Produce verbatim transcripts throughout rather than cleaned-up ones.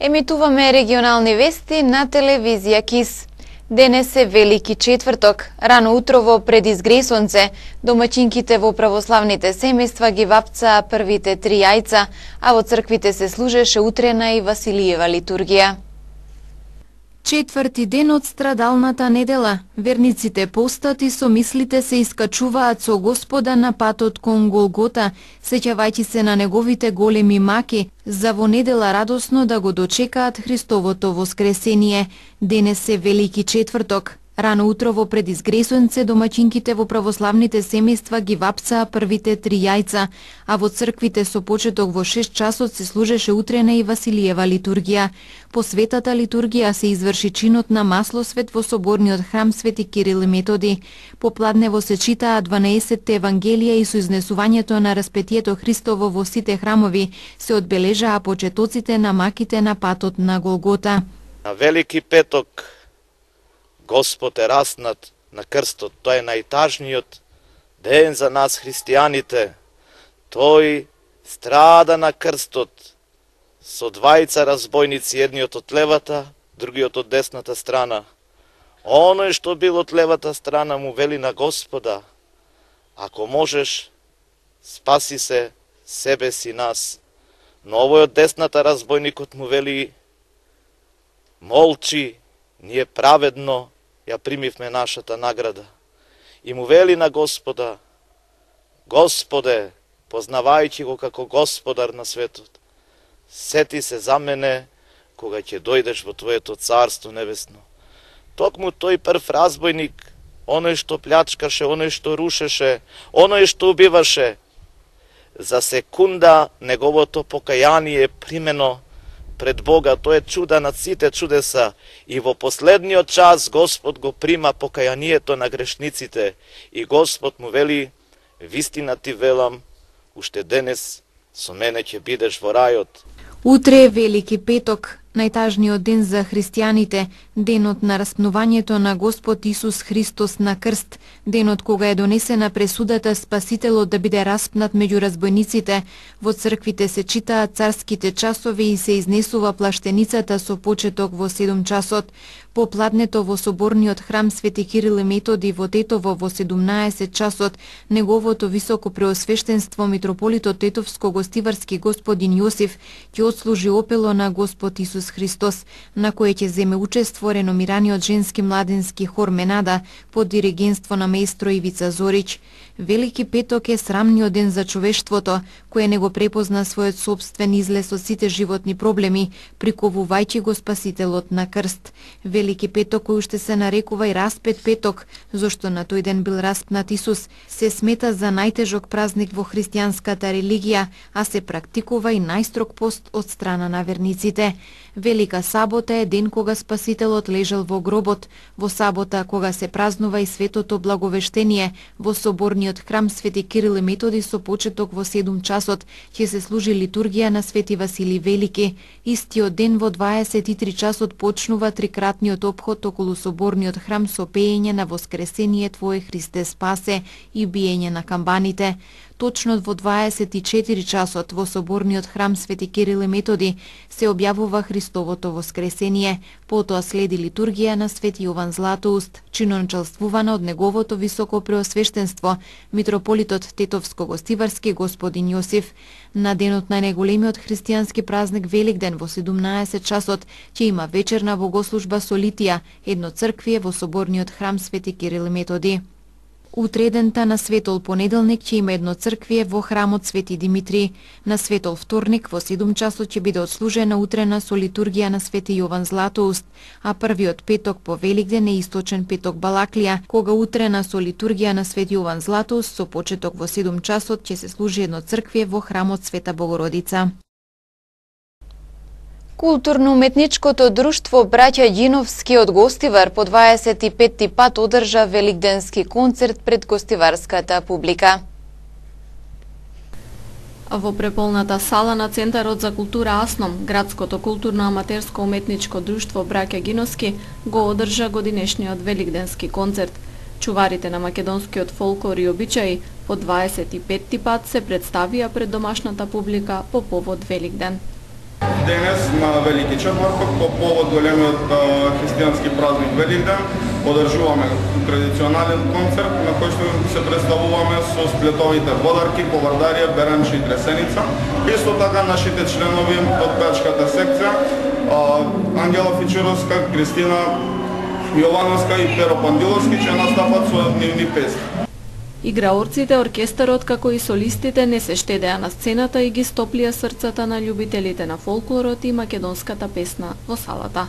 Емитуваме регионални вести на телевизија КИС. Денес е Велики четврток. Рано утрово пред изгресонце, домаќинките во православните семејства ги вапцаа првите три јајца, а во црквите се служеше утрена и Василиева литургија. Четврти ден од страдалната недела, верниците постат и со мислите се искачуваат со Господа на патот кон Голгота, сеќавајќи се на неговите големи маки, за во недела радосно да го дочекаат Христовото воскресение. Денес е Велики четврток. Рано утрово пред изгресонце домаќинките во православните семејства ги вапцаа првите три јајца, а во црквите со почеток во шест часот се служеше утрена и Василиева литургија. По светата литургија се изврши чинот на маслосвет во соборниот храм Свети Кирил и Методи. Попладнево се читаа дванаесетте евангелија и со изнесувањето на распетието Христово во сите храмови се одбележаа почетоците на маките на патот на Голгота. На Велики петок Господ е раснат на крстот. Тој е најтажниот ден за нас христијаните. Тој страда на крстот со двајца разбойници, едниот од левата, другиот од десната страна. Оној што бил од левата страна му вели на Господа: ако можеш, спаси се себе си нас. Но овој од десната разбойникот му вели: молчи, ние праведно ја примивме нашата награда. И му вели на Господа: Господе, познавајќи го како Господар на светот, сети се за мене кога ќе дојдеш во Твоето царство небесно. Токму тој прв разбойник, оној што плячкаше, оној што рушеше, оној што убиваше, за секунда неговото покаяние примено пред Бога, тоа е чуда над сите чудеса, и во последниот час Господ го прима покајанието на грешниците и Господ му вели: вистина ти велам, уште денес со мене ќе бидеш во рајот. Утре е Велики петок, најтажниот ден за христијаните, денот на распнувањето на Господ Исус Христос на крст, денот кога е донесена пресудата Спасителот да биде распнат меѓу разбойниците. Во црквите се читаат царските часови и се изнесува плаштеницата со почеток во седум часот. Попладнето во соборниот храм Свети Кирил и Методи во Тетово во седумнаесет часот, неговото високо преосвештенство митрополитот Тетовско-гостиварски господин Јосиф ќе отслужи опело на Господ Исус Христос, на кој ќе земе учество реномираниот женски младенски хор Менада под диригентство на маестро Ивица Зорич. Велики петок е срамниот ден за човештвото, кое не го препозна својот собствен излез од сите животни проблеми, приковувајќи го Спасителот на крст. Велики петок, кој уште се нарекува и распет петок, зашто на тој ден бил распнат Исус, се смета за најтежок празник во христијанската религија, а се практикува и најстрог пост од страна на верниците. Велика сабота е ден кога Спасителот лежал во гробот, во сабота кога се празнува и светото благовештение, во соборниот храм Свети Кирил и Методи со почеток во седум часот ќе се служи литургија на Свети Василий Велики. Истиот ден во дваесет и три часот почнува трикратниот опход околу соборниот храм со пеење на Воскресение Твое Христе спасе и биење на камбаните. Точно во дваесет и четири часот во соборниот храм Свети Кирил и Методи се објавува Христовото воскресение, потоа следи литургија на Свети Јован Златоуст, чинончалствувана од неговото високо преосвештенство, митрополитот Тетовско-гостиварски господин Јосиф. На денот на најголемиот христијански празник Великден во седумнаесет часот ќе има вечерна богослужба со литија, едно црквие во соборниот храм Свети Кирил и Методи. Утредента на светол понеделник ќе има едно црквие во храмот Свети Димитри. На светол вторник во седум часот ќе биде отслужена утрена со литургија на Свети Јован Златоуст, а првиот петок по Великден е источен петок Балаклија, кога утрена со литургија на Свети Јован Златоуст со почеток во седум часот ќе се служи едно црквие во храмот Света Богородица. Културно-уметничкото друштво Браќа Ѓиновски од Гостивар по дваесет и петти пат одржа великденски концерт пред гостиварската публика. Во преполната сала на Центарот за култура Асном, градското културно-аматерско уметничко друштво Браќа Ѓиновски го одржа годинешниот великденски концерт. Чуварите на македонскиот фолклор и обичаи по дваесет и петти пат се представија пред домашната публика по повод Великден. Денес на Велики четврток, по повод големиот христијански празник Великден, одржуваме традиционален концерт на кој што се представуваме со сплетовите Водарки, Повардарија, Беремче и Тресеница. Исто така нашите членови од пеачката секција Ангела Фичеровска, Кристина Јовановска и Перо Пандиловски ќе настапат со нивни песни. Играорците, оркестарот, како и солистите не се штедеа на сцената и ги стоплија срцата на љубителите на фолклорот и македонската песна во салата.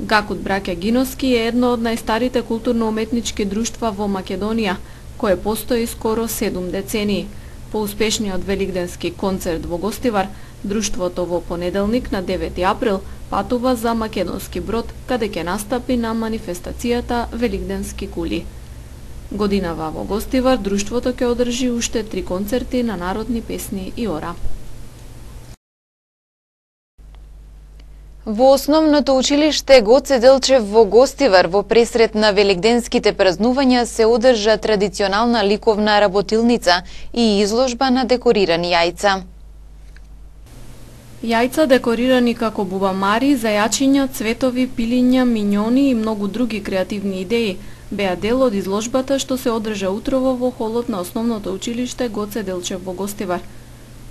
Гакут браќа Гиноски е едно од најстарите културно-уметнички друштва во Македонија, кое постои скоро седум децении. По успешниот великденски концерт во Гостивар, друштвото во понеделник на девети април патува за Македонски Брод, каде ќе настапи на манифестацијата Великденски кули. Годинава во Гостивар, друштвото ќе одржи уште три концерти на народни песни и ора. Во основното училиште Гоце Делчев во Гостивар во пресрет на великденските празнувања се одржа традиционална ликовна работилница и изложба на декорирани јајца. Јајца декорирани како бубамари, зајачиња, цветови, пилиња, миньони и многу други креативни идеи беа дел од изложбата што се одржа утрово во холот на основното училиште Гоце Делчев во Гостивар.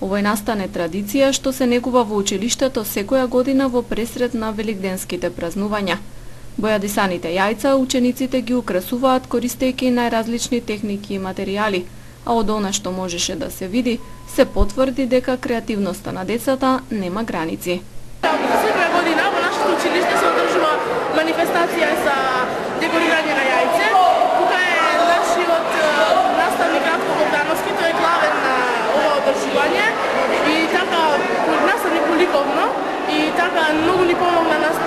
Овој настане традиција што се негува во училиштето секоја година во пресрет на великденските празнувања. Бојадисаните јајца учениците ги украсуваат користејќи најразлични техники и материјали, а од она што можеше да се види, се потврди дека креативноста на децата нема граници. Секоја година во нашето училиште се одржува манифестација за декорирање на јајце. Тука е нашиот наставник Радко Богдановски, тој е главен на ова одржување и така наставник ликовно и така многу ни помогна нас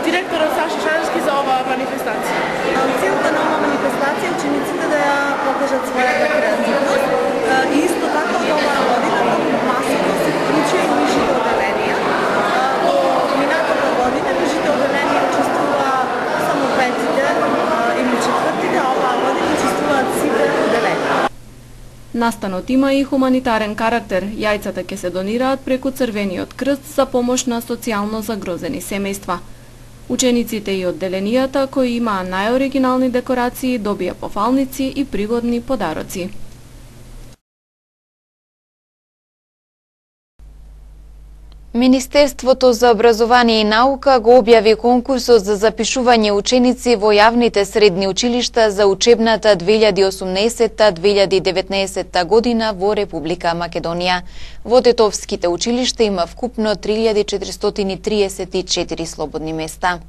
директорот Саша Шаревски за ова манифестација. Целта на ова манифестација е учениците да ја покажат својата креативност и исто така од оваа година масово се вклучи и нишите оделенија. Во минатата година нишите оделенија учествува само петите или четвртите, а оваа година учествуваат сите оделенија. Настанот има и хуманитарен карактер. Јајцата ќе се донираат преку Црвениот крст за помош на социјално загрозени семејства. Учениците и одделенијата кои имаа најоригинални декорации добија пофалници и пригодни подароци. Министерството за образование и наука го објави конкурсот за запишување ученици во јавните средни училишта за учебната две илјади и осумнаесетта две илјади и деветнаесетта година во Република Македонија. Во тетовските училишта има вкупно три илјади четиристотини триесет и четири слободни места.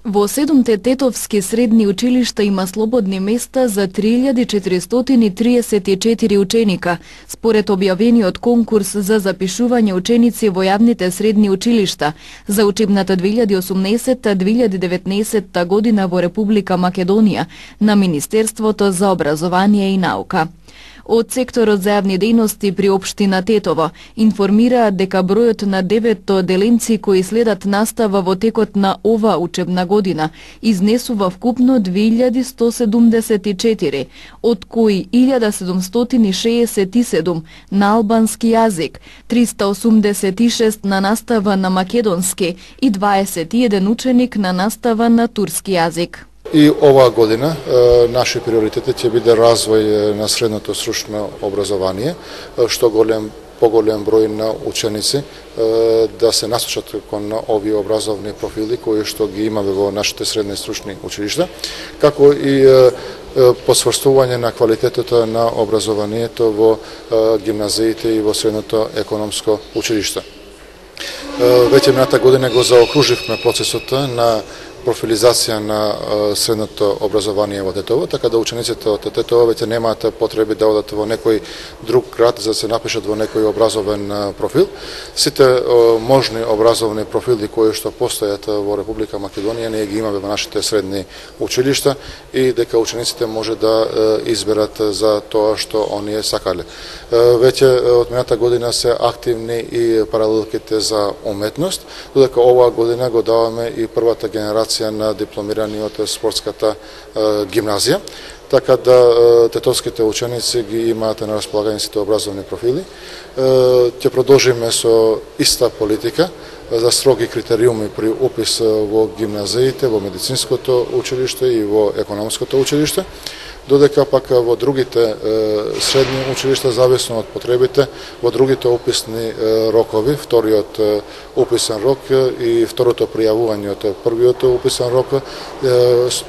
Во седумте тетовски средни училишта има слободни места за три илјади четиристотини триесет и четири ученика, според објавениот конкурс за запишување ученици во јавните средни училишта за учебната две илјади и осумнаесетта две илјади и деветнаесетта година во Република Македонија на Министерството за образование и наука. од секторот за јавни дејности при општина Тетово информираат дека бројот на деветто деленци кои следат настава во текот на ова учебна година изнесува вкупно две илјади сто седумдесет и четири, од кои илјада седумстотини шеесет и седум на албански јазик, триста осумдесет и шест на настава на македонски и дваесет и еден ученик на настава на турски јазик. И оваа година е, наши приоритети ќе биде развој на средното стручно образование, што голем поголем број на ученици е, да се насочат кон овие образовни профили кои што ги имаме во нашите средни стручни училишта, како и е, посврстување на квалитетот на образованието во е, гимназиите и во средното економско училиште. Е, веќе мината година го заокруживме процесот на профилизација на средното образование во Тетово, така да учениците од Тетово веќе немаат потреби да одат во некој друг град за да се напишат во некој образовен профил. Сите можни образовни профили кои што постојат во Република Македонија ние ги имаме во нашите средни училишта и дека учениците може да изберат за тоа што оние сакале. Веќе од мината година се активни и паралелките за уметност, додека оваа година го даваме и првата генерација на дипломирани од спортската е, гимназија, така да е, тетовските ученици ги имаат на располагање сите образовни профили. Ќе продолжиме со иста политика за строги критериуми при упис во гимназиите, во медицинското училиште и во економското училиште, додека пак во другите е, средни училишта, зависно од потребите, во другите уписни е, рокови, вториот е, уписен рок и второто пријавување од првиот уписен рок, е,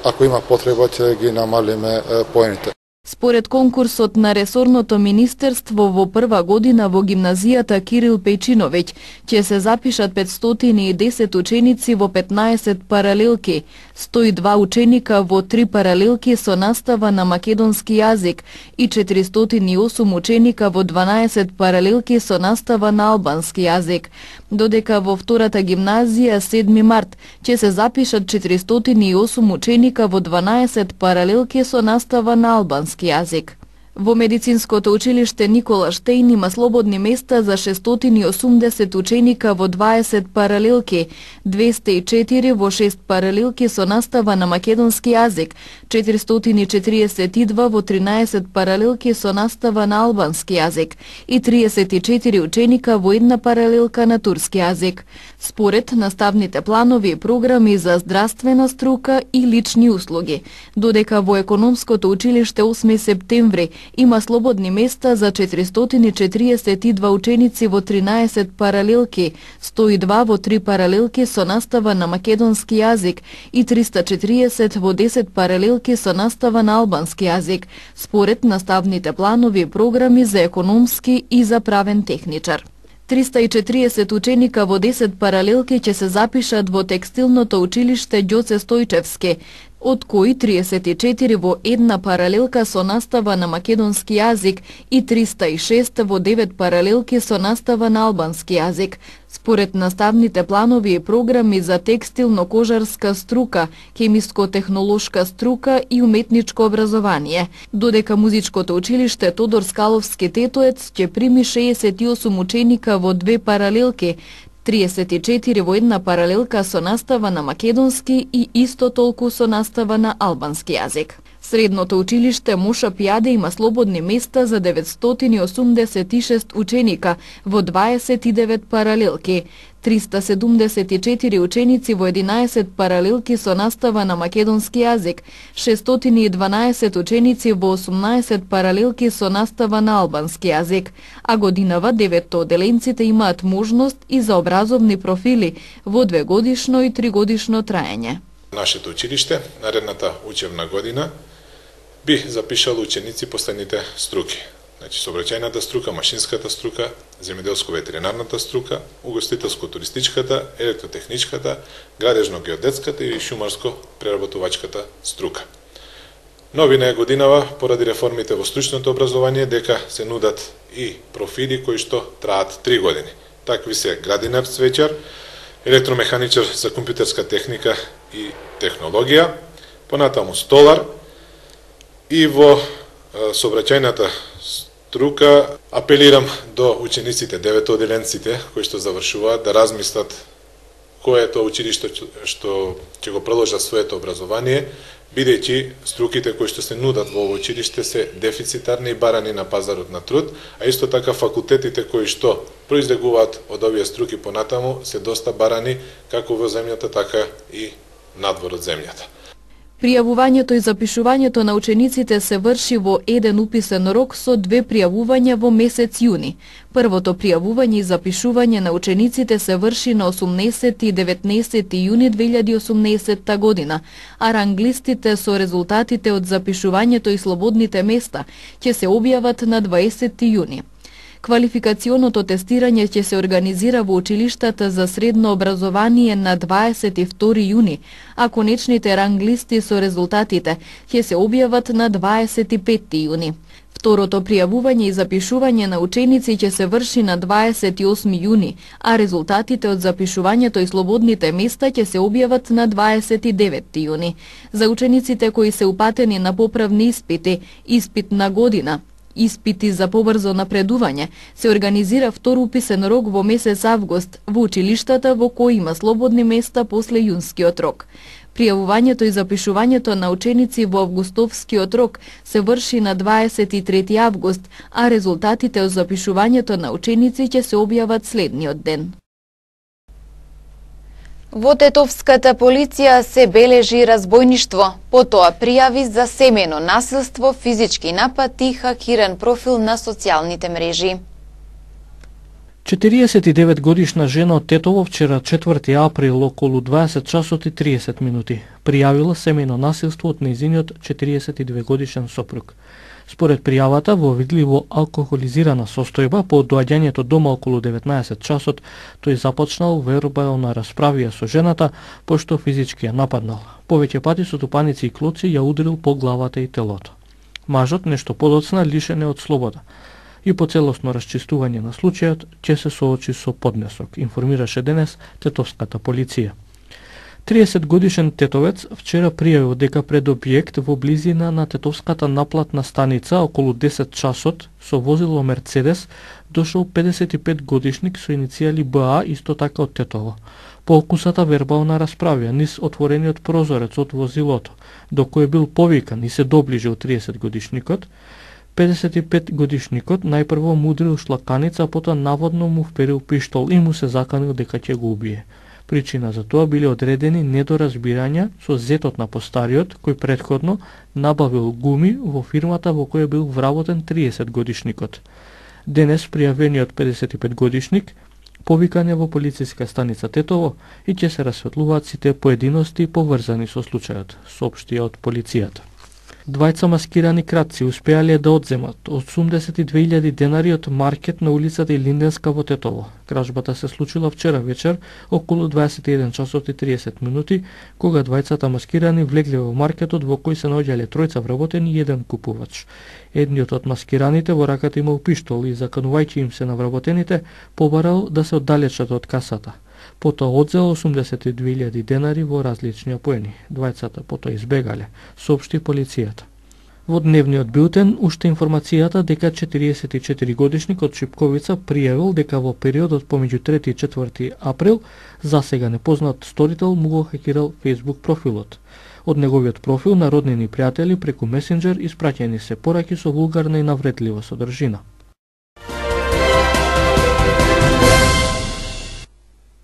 ако има потреба ќе ги намалиме е, поените. Според конкурсот на ресорното министерство во прва година во гимназијата Кирил Пејчиновиќ ќе се запишат петстотини и десет ученици во петнаесет паралелки, сто и два ученика во три паралелки со настава на македонски јазик и четиристотини и осум ученика во дванаесет паралелки со настава на албански јазик, додека во втората гимназија седми март ќе се запишат четиристотини и осум ученика во дванаесет паралелки со настава на албански јазик. Во медицинското училиште Никола Штејн има слободни места за шестстотини и осумдесет ученика во дваесет паралелки, двесте и четири во шест паралелки со настава на македонски јазик, четиристотини и четиридесет и два во тринаесет паралелки со настава на албански јазик и триесет и четири ученика во една паралелка на турски јазик. Според наставните планови и програми за здравствена струка и лични услуги, додека во економското училиште осми септември има слободни места за четиристотини и четириесет и два ученици во тринаесет паралелки, сто и два во три паралелки со настава на македонски јазик и триста и четириесет во десет паралелки со настава на албански јазик, според наставните планови и програми за економски и за правен техничар. триста и четириесет ученика во десет паралелки ќе се запишат во текстилното училиште Ѓоце Стојчевски, од кои триесет и четири во една паралелка со настава на македонски јазик и триста и шест во девет паралелки со настава на албански јазик, според наставните планови и програми за текстилно-кожарска струка, хемиско-технолошка струка и уметничко образование, додека музичкото училиште Тодор Скаловски Тетоец ќе прими шеесет и осум ученика во две паралелки, триесет и четири во една паралелка со настава на македонски и исто толку со настава на албански јазик. Средното училиште Моша Пијаде има слободни места за деветстотини и осумдесет и шест ученика во дваесет и девет паралелки, триста седумдесет и четири ученици во единаесет паралелки со настава на македонски јазик, шестстотини и дванаесет ученици во осумнаесет паралелки со настава на албански јазик, а годинава деветто оделенците имаат можност и за образовни профили во двегодишно и тригодишно траење. Нашето училиште наредната учебна година би запишало ученици по следните струки. Значи, сообраќајната струка, машинската струка, земјоделско-ветеринарната струка, угостителско-туристичката, електротехничката, градежно-геодетската и шумарско-преработувачката струка. Новина е годинава, поради реформите во стручното образование, дека се нудат и профили кои што траат три години. Такви се градинар цвеќар, електромеханичар за компјутерска техника и технологија, понатаму столар, и во сообраќајната струка, апелирам до учениците, деветоделенците кои што завршуваат да размислат кое е тоа училиште што ќе го продолжат своето образование, бидејќи струките кои што се нудат во ово училиште се дефицитарни и барани на пазарот на труд, а исто така факултетите кои што произлегуваат од овие струки понатаму се доста барани како во земјата, така и надвор од земјата. Пријавувањето и запишувањето на учениците се врши во еден уписен рок со две пријавувања во месец јуни. Првото пријавување и запишување на учениците се врши на осумнаесети и деветнаесети јуни две илјади и осумнаесетта година, а ранглистите со резултатите од запишувањето и слободните места ќе се објават на дваесети јуни. Квалификационото тестирање ќе се организира во училиштата за средно образование на дваесет и втори јуни, а конечните ранглисти со резултатите ќе се објават на дваесет и пети јуни. Второто пријавување и запишување на ученици ќе се врши на дваесет и осми јуни, а резултатите од запишувањето и слободните места ќе се објават на дваесет и деветти јуни. За учениците кои се упатени на поправни испити, испит на година, испити за побрзо напредување, се организира втор уписен рок во месец август во училиштата во кои има слободни места после јунскиот рок. Пријавувањето и запишувањето на ученици во августовскиот рок се врши на дваесет и трети август, а резултатите од запишувањето на ученици ќе се објават следниот ден. Во Тетовската полиција се бележи разбојништво, потоа пријави за семејно насилство, физички напад и хакиран профил на социјалните мрежи. четириесет и девет годишна жена од Тетово вчера четврти април околу дваесет часот и триесет минути пријавила семејно насилство од нејзиниот четириесет и две годишен сопруг. Според пријавата, во видливо алкохолизирана состојба, по доаѓањето дома околу деветнаесет часот, тој започнал вербална расправија со жената, пошто физички ја нападнал. Повеќе пати со тупаници и клоци ја удрил по главата и телото. Мажот нешто подоцна лишен е од слобода. И по целосно расчистување на случајот ќе се соочи со поднесок, информираше денес Тетовската полиција. триесет годишен тетовец вчера пријавил дека пред објект во близина на Тетовската наплатна станица околу десет часот со возило Мерцедес дошол педесет и пет годишник со иницијали Б А, исто така од Тетово. По окусата вербална расправија низ отворениот прозорец од возилото, до кој бил повикан и се доближил триесет годишникот, педесет и пет годишникот најпрво му удрил шлаканица, а потоа наводно му вперил пиштол и му се заканил дека ќе го убие. Причина за тоа биле одредени недоразбирања со зетот на постариот, кој претходно набавил гуми во фирмата во која бил вработен триесет годишникот. Денес пријавениот педесет и пет годишник повикан е во полициска станица Тетово и ќе се расветлуваат сите поединости поврзани со случајот, соопшти од полицијата. Двајца маскирани кратци успеале да одземат осумдесет и две илјади денари од маркет на улицата Илинденска во Тетово. Кражбата се случила вчера вечер околу дваесет и еден часот и триесет минути, кога двајцата маскирани влегле во маркетот во кој се наоѓале тројца вработени и еден купувач. Едниот од маскираните во раката имал пиштол и, заканувајќи им се на вработените, побарал да се оддалечат од касата. Потоа одзел осумдесет и две илјади денари во различни апоени. Двајцата потоа избегале, соопшти полицијата. Во дневниот билтен уште информацијата дека четириесет и четири годишник од Шипковица пријавил дека во периодот помеѓу трети и четврти април засега непознат сторител му го хакирал Facebook профилот. Од неговиот профил на роднини пријатели преку месенџер испраќени се пораки со вулгарна и навредлива содржина.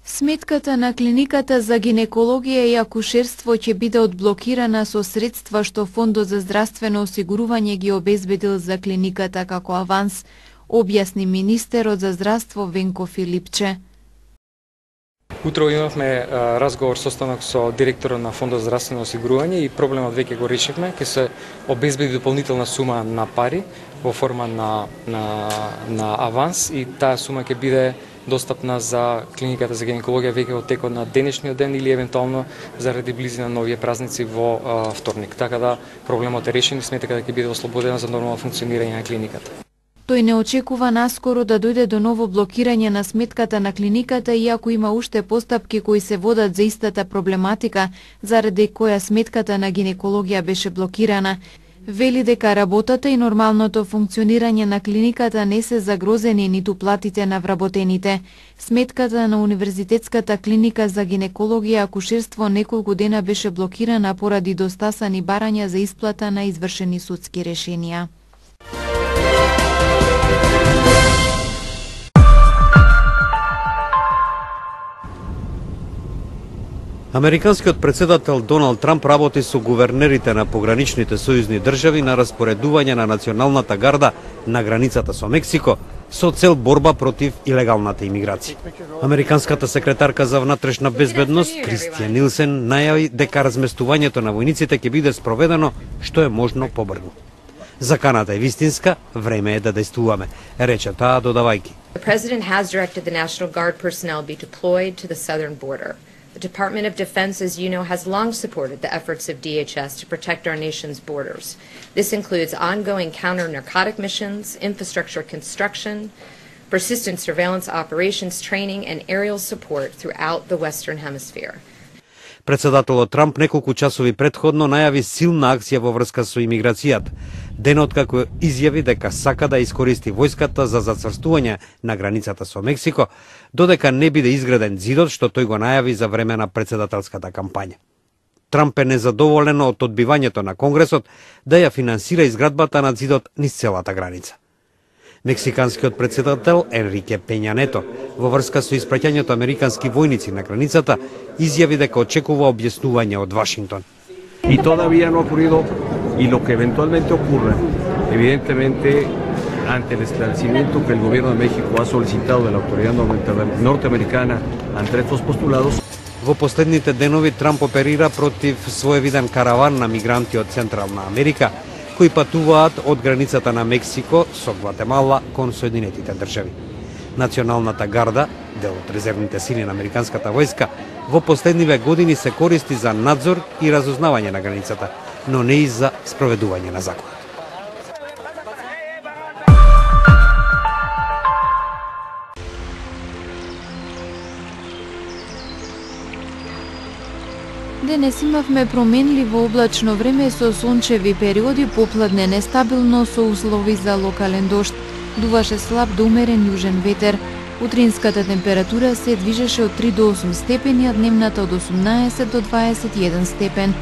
Сметката на клиниката за гинекологија и акушерство ќе биде одблокирана со средства што Фондот за здравствено осигурување ги обезбедил за клиниката како аванс, објасни министерот за здравство Венко Филипче. Утро имавме а, разговор состанок со директорот на Фондот за здравствено осигурување и проблемот веќе го решивме, ќе се обезбеди дополнителна сума на пари во форма на, на, на аванс и таа сума ќе биде достапна за клиниката за гинекологија веќе во текот на денешниот ден или евентуално заради близина на овие празници во а, вторник. Така да проблемот е решен и сметка дека ќе биде ослободена за нормално функционирање на клиниката. Тој не очекува наскоро да дојде до ново блокирање на сметката на клиниката, иако има уште постапки кои се водат за истата проблематика, заради која сметката на гинекологија беше блокирана. Вели дека работата и нормалното функционирање на клиниката не се загрозени ниту платите на вработените. Сметката на Универзитетската клиника за гинекологија и акушерство неколку дена беше блокирана поради достасани барања за исплата на извршени судски решенија. Американскиот председател Доналд Трамп работи со гувернерите на пограничните сојузни држави на распоредување на националната гарда на границата со Мексико со цел борба против илегалната имиграција. Американската секретарка за внатрешна безбедност Кристијан Нилсен најави дека разместувањето на војниците ќе биде спроведено што е можно побрзо. Заканата е вистинска, време е да действуваме, рече таа додавајќи. The president has directed the National Guard personnel be deployed to the southern border. The Department of Defense, as you know, has long supported the efforts of D H S to protect our nation's borders. This includes ongoing counter-narcotic missions, infrastructure construction, persistent surveillance operations training, and aerial support throughout the Western Hemisphere. Председателот Трамп неколку часови претходно најави силна акција во врска со имиграцијата, денот како изјави дека сака да искористи војската за зацврстување на границата со Мексико, додека не биде изграден зидот што тој го најави за време на председателската кампања. Трамп е незадоволен од одбивањето на Конгресот да ја финансира изградбата на зидот низ целата граница. Мексиканскиот председател Енрике Пења Нето во врска со испраќањето американски војници на границата изјави дека очекува објаснување од Вашингтон. И todavía no ha ocurrido y lo que eventualmente ocurra, evidentemente ante el esclarecimiento que el gobierno de México ha solicitado de la autoridad norteamericana ante estos postulados. Во последните денови Трамп оперира против своевиден караван на мигранти од Централна Америка кои патуваат од границата на Мексико со Гватемала кон Соединетите држави. Националната гарда, дел од резервните сили на американската војска, во последниве години се користи за надзор и разузнавање на границата, но не и за спроведување на законот. Денес имавме променливо облачно време со сончеви периоди, попладне нестабилно со услови за локален дожд. Дуваше слаб до умерен јужен ветер. Утринската температура се движеше од три до осум степени, а дневната од осумнаесет до дваесет и еден степен.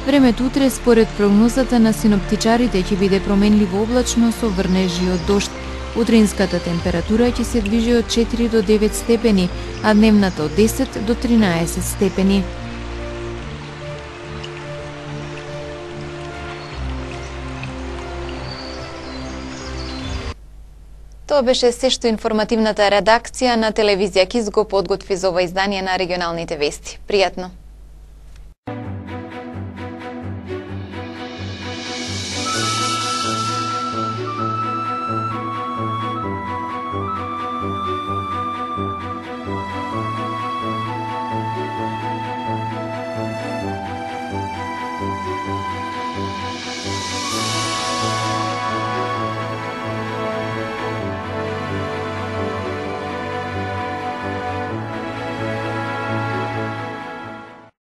Времето утре според прогнозата на синоптичарите ќе биде променливо облачно со врнежи од дожд. Утринската температура ќе се движи од четири до девет степени, а дневната од десет до тринаесет степени. Тоа беше се што информативната редакција на телевизија Киз го подготви за ова издание на регионалните вести. Пријатно!